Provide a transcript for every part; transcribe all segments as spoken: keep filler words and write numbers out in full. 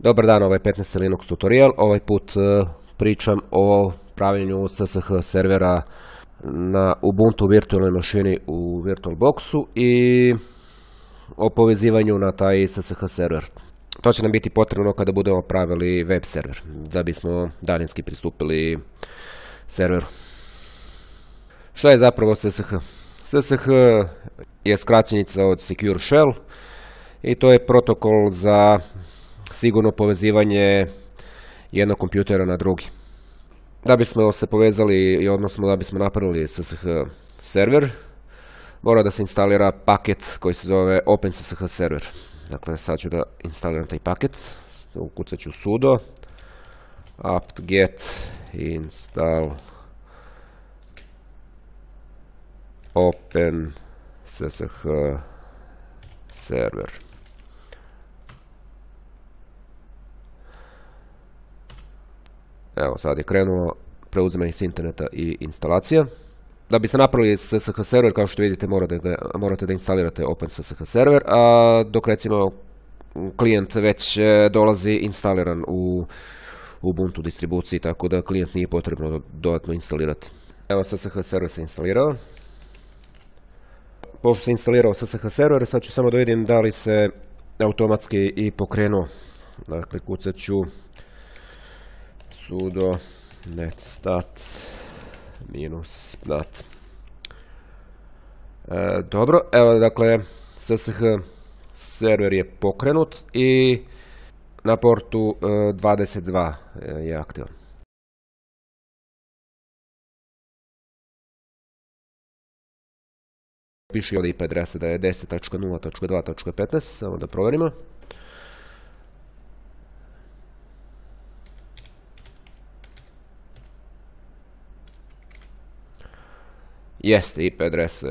Dobar dan, ovaj petnaesti Linux tutorial. Ovaj put pričam o pravljenju S S H servera na Ubuntu virtualnoj mašini u VirtualBoxu i o povezivanju na taj S S H server. To će nam biti potrebno kada budemo pravili web server, da bismo daljinski pristupili serveru. Šta je zapravo S S H? S S H je skraćenica od Secure Shell i to je protokol za sigurno povezivanje jednog kompjutera na drugi. Da bismo se povezali, odnosno da bismo napravili S S H server, mora da se instalira paket koji se zove OpenSSH server. Dakle, sad ću da instaliram taj paket, ukucat ću sudo apt-get install OpenSSH server. Evo, sad je krenulo preuzimanje s interneta i instalacija. Da biste napravili S S H server, kao što vidite, morate da instalirate OpenSSH server, a dok recimo klijent već dolazi instaliran u Ubuntu distribuciji, tako da klijent nije potrebno dodatno instalirati. Evo, S S H server se instalirao. Pošto se instalirao S S H server, sad ću samo da vidim da li se automatski i pokrenuo. Dakle, kucat ću sudo netstat minus nat. E, dobro, evo dakle S S H server je pokrenut i na portu e, dvadeset dva je aktivan. Piše ovdje I P adresa da je deset tačka nula tačka dva tačka petnaest, samo da provjerimo. Jeste, I P adresa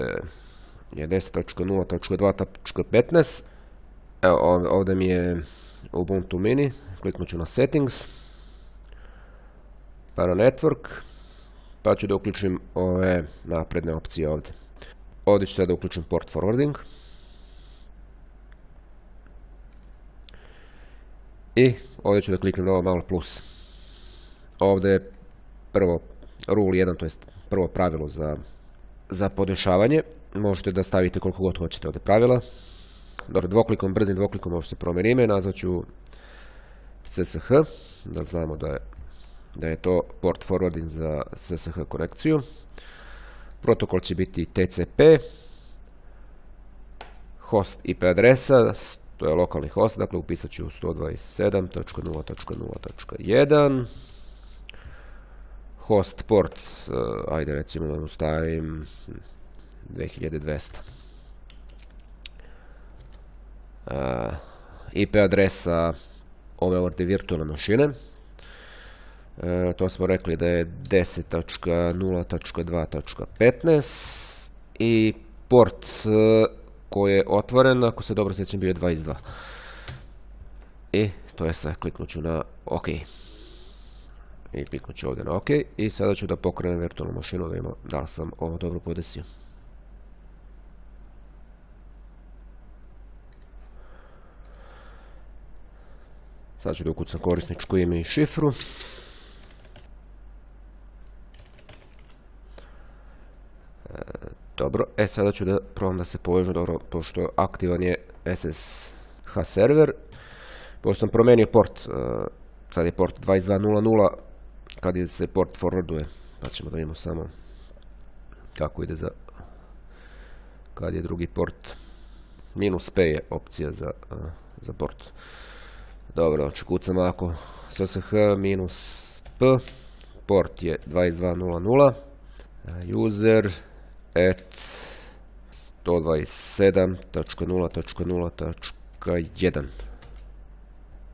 je deset tačka nula tačka dva tačka petnaest. Evo, ovdje mi je Ubuntu mini, kliknut ću na settings, pa na network, pa ću da uključim ove napredne opcije ovdje. Ovdje ću sada uključim port forwarding. I ovdje ću da kliknem na ovo malo plus. Ovdje je prvo rule jedan, to je prvo pravilo za za podešavanje. Možete da stavite koliko god hoćete ovdje pravila. Dobro, dvoklikom, brzim dvoklikom možete promijeniti ime, nazvat ću S S H, da znamo da je, da je to port forwarding za S S H konekciju. Protokol će biti T C P, host I P adresa, to je lokalni host, dakle upisat ću sto dvadeset sedam tačka nula tačka nula tačka jedan. Host port, uh, ajde recimo da stavim dve hiljade dvesta. Uh, I P adresa ove ovdje virtualne mašine. Uh, to smo rekli da je deset tačka nula tačka dva tačka petnaest i port uh, koji je otvoren, ako se dobro sjećam, bio je dvadeset dva. I to je sve, kliknut ću na OK. I kliknut ću ovdje na OK i sada ću da pokrenem virtualnu mašinu da imam da li sam ovo dobro podesio. Sad ću da ukucam korisničko ime i šifru. E, dobro, e sada ću da probam da se povežem, dobro, pošto aktivan je S S H server. Pošto sam promenio port, e, sad je port dvadeset dva nula nula, kad je se port forwarduje, pa ćemo da vidimo samo kako ide za kad je drugi port. Minus P je opcija za, uh, za port. Dobro, znači kucam ovako S S H minus P, port je dvadeset dva nula nula, user at sto dvadeset sedam tačka nula tačka nula tačka jedan.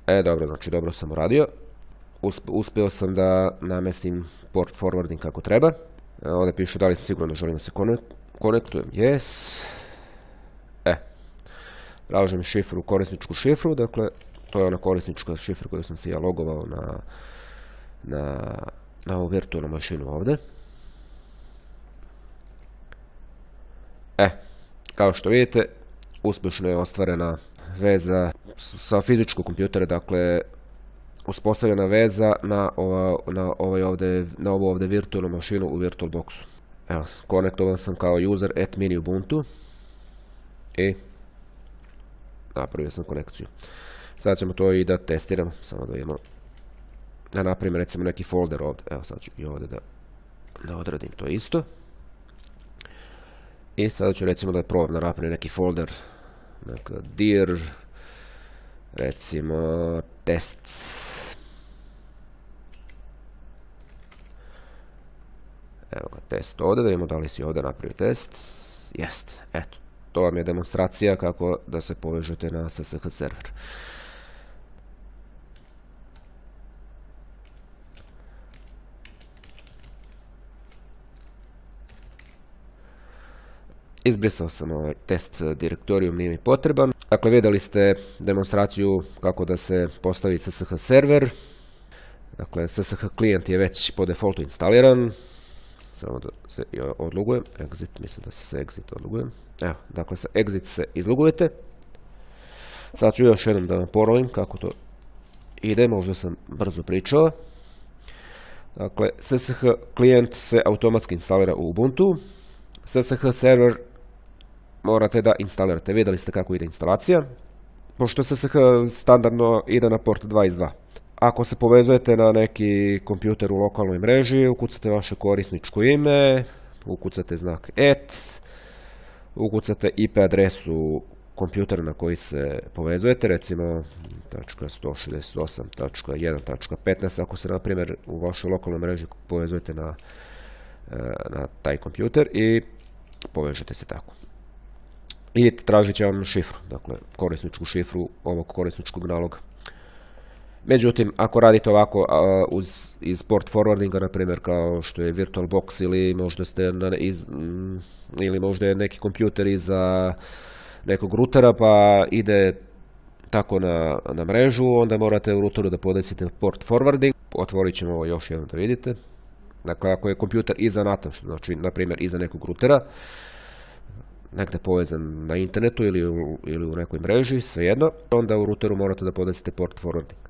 E, dobro, znači dobro sam uradio. Uspio sam da namestim port forwarding kako treba. Ovdje piše da li sam sigurno želim da se konektujem. Yes. E. Tražim šifru, korisničku šifru. Dakle, to je ona korisnička šifra koju sam se ja logovao na, na, na ovu virtualnu mašinu ovdje. E. Kao što vidite, uspješno je ostvarena veza sa fizičkog kompjutera, dakle uspostavljena veza na, ova, na, ovaj ovdje, na ovu ovdje virtualnu mašinu u VirtualBoxu. Evo, konektovan sam kao user at mini Ubuntu i napravio sam konekciju. Sad ćemo to i da testiramo, samo da vidimo, da napravim recimo neki folder ovdje. Evo sad ću i ovdje da, da odradim to isto. I sada ću recimo da probam da napravim neki folder, neka dir, recimo test. Evo ga, test ovdje, da vidimo da li si ovdje napravio test. Jest, eto, to vam je demonstracija kako da se povežete na S S H server. Izbrisao sam ovaj test direktorijum, nije mi potreban. Dakle, vidjeli ste demonstraciju kako da se postavi S S H server. Dakle, S S H klijent je već po defaultu instaliran. Samo da se odlogujem. Exit, mislim da se se exit odlogujem. Evo, dakle, sa exit se izlogujete. Sad ću još jednom da vam ponovim kako to ide, možda sam brzo pričao. Dakle, S S H klijent se automatski instalira u Ubuntu. S S H server morate da instalirate. Vidjeli ste kako ide instalacija. Pošto S S H standardno ide na port dvadeset dva. Ako se povezujete na neki kompjuter u lokalnoj mreži, ukucate vaše korisničko ime, ukucate znak et, ukucate I P adresu kompjutera na koji se povezujete, recimo sto šezdeset osam tačka jedan tačka petnaest, ako se na primjer u vašoj lokalnoj mreži povezujete na, na taj kompjuter i povežete se tako. I tražit će vam šifru, dakle korisničku šifru ovog korisničkog naloga. Međutim, ako radite ovako uh, uz, iz port forwardinga, na primjer kao što je VirtualBox ili možda ste na, iz, mm, ili možda je neki kompjuter iza nekog rutera pa ide tako na, na mrežu, onda morate u ruteru da podesite port forwarding. Otvorit ćemo ovo još jednom da vidite. Dakle, ako je kompjuter iza nata, znači na primjer iza nekog rutera, negdje povezan na internetu ili u, ili u nekoj mreži, svejedno, onda u ruteru morate da podesite port forwarding.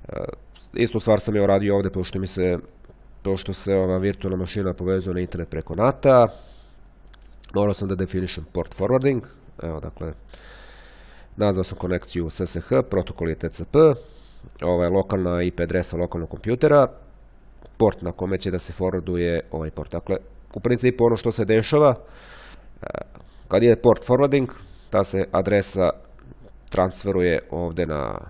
Uh, istu stvar sam je radio ovdje, pošto mi se, pošto se ova virtualna mašina povezuje na internet preko nata, morao sam da definišem port forwarding. Evo, dakle, nazvao sam konekciju S S H, protokol je T C P, ova je lokalna I P adresa lokalnog kompjutera, port na kome će da se forwarduje ovaj port. Dakle, u principu ono što se dešava, kad je port forwarding, ta se adresa transferuje ovdje na,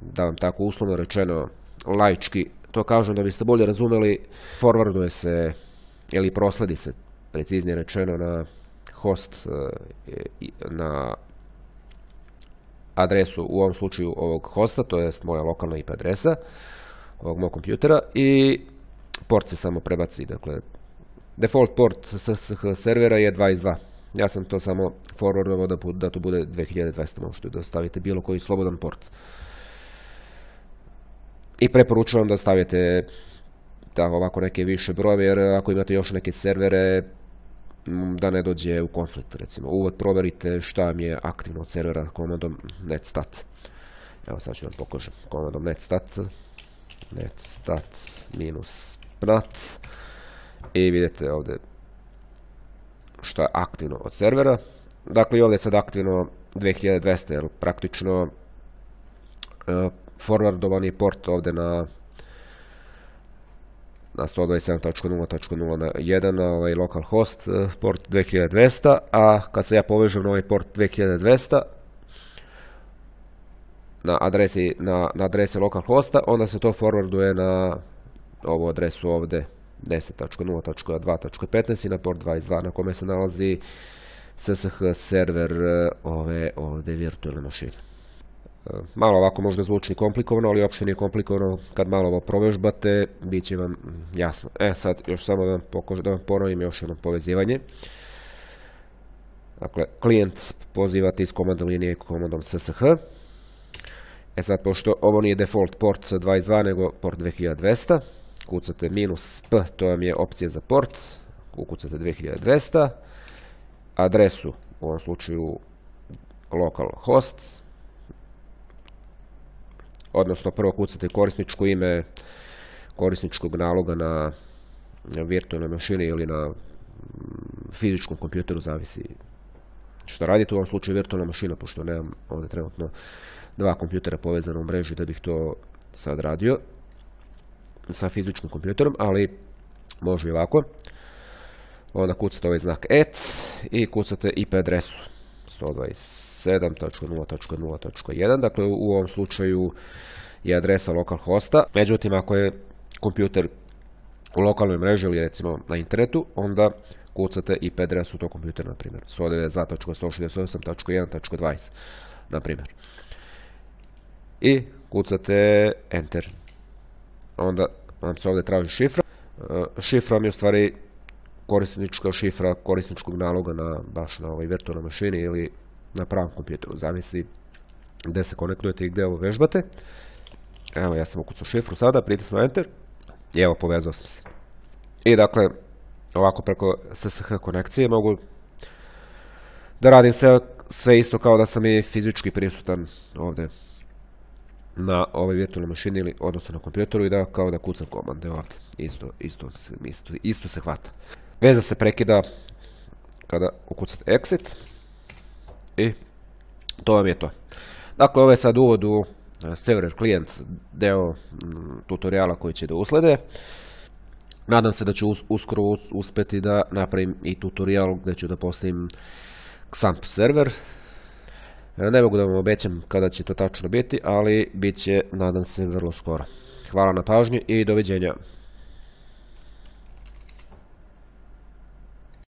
da vam tako uslovno rečeno, laički, to kažem da biste bolje razumeli, forwarduje se ili prosledi se, preciznije rečeno, na host, na adresu, u ovom slučaju ovog hosta, to jest moja lokalna I P adresa ovog mog kompjutera, i port se samo prebaci. Dakle, default port S S H servera je dvadeset dva. Ja sam to samo forwardovao da, da to bude dve hiljade dvesta, možete da stavite bilo koji slobodan port. I preporučujem da stavite tako ovako neke više brojeve, jer ako imate još neke servere, da ne dođe u konflikt. Recimo, uvod proverite šta vam je aktivno od servera komandom netstat. Evo sad ću vam pokažem komandom netstat, netstat minus pnat, i vidite ovdje što je aktivno od servera. Dakle, i ovdje je sad aktivno dve hiljade dvesta, jer praktično uh, forwardovan je port ovdje na na sto dvadeset sedam tačka nula tačka nula jedan, ovaj localhost uh, port dve hiljade dvesta, a kad se ja povežem na ovaj port dve hiljade dvesta na adresi, na, na adresi localhosta, onda se to forwarduje na ovu adresu ovdje deset tačka nula tačka dva tačka petnaest i na port dvadeset dva na kome se nalazi S S H server ove ovdje virtualne mašine. Malo ovako možda zvuči komplikovano, ali uopšte nije komplikovano. Kad malo ovo provežbate, bit će vam jasno. E sad, još samo da vam, pokož, da vam ponovim još jedno povezivanje. Dakle, klijent pozivate iz komandne linije komandom S S H. E sad, pošto ovo nije default port dvadeset dva, nego port dve hiljade dvesta, kucate minus P, to vam je opcija za port, ukucate dve hiljade dvesta, adresu, u ovom slučaju localhost, odnosno prvo kucate korisničko ime korisničkog naloga na virtualnoj mašini ili na fizičkom kompjuteru, zavisi što radite. U ovom slučaju virtualna mašina, pošto nemam ovdje trenutno dva kompjutera povezana u mreži da bih to sad radio sa fizičkim kompjuterom, ali može i ovako. Onda kucate ovaj znak et i kucate I P adresu sto dvadeset sedam tačka nula tačka nula tačka jedan, dakle u ovom slučaju je adresa localhosta. Međutim, ako je kompjuter u lokalnoj mreži ili recimo na internetu, onda kucate I P adresu tog kompjutera, na primjer sto devedeset dva tačka sto šezdeset osam tačka jedan tačka dvadeset, na primjer. I kucate Enter. Onda vam se ovdje traži šifra. Šifra mi je u stvari korisnička šifra korisničkog naloga na, baš na ovoj virtualnoj mašini ili na pravom kompjuteru, zavisi gdje se konektujete i gdje ovo vežbate. Evo, ja sam ukucao šifru sada, pritisnuo Enter i evo, povezao sam se. I dakle, ovako preko S S H konekcije mogu da radim sve, sve isto kao da sam i fizički prisutan ovdje na ovoj virtualnoj mašini ili odnosno na kompjuteru i da kao da kucam komande ovdje. Isto, isto, isto, isto se hvata. Veza se prekida kada ukucate Exit i to vam je to. Dakle, ovo je sad uvod u server klijent, deo tutoriala koji će da uslede. Nadam se da ću uskoro uspjeti da napravim i tutorial gdje ću da postavim Xampp server. Ne mogu da vam obećam kada će to tačno biti, ali bit će, nadam se, vrlo skoro. Hvala na pažnji i doviđenja.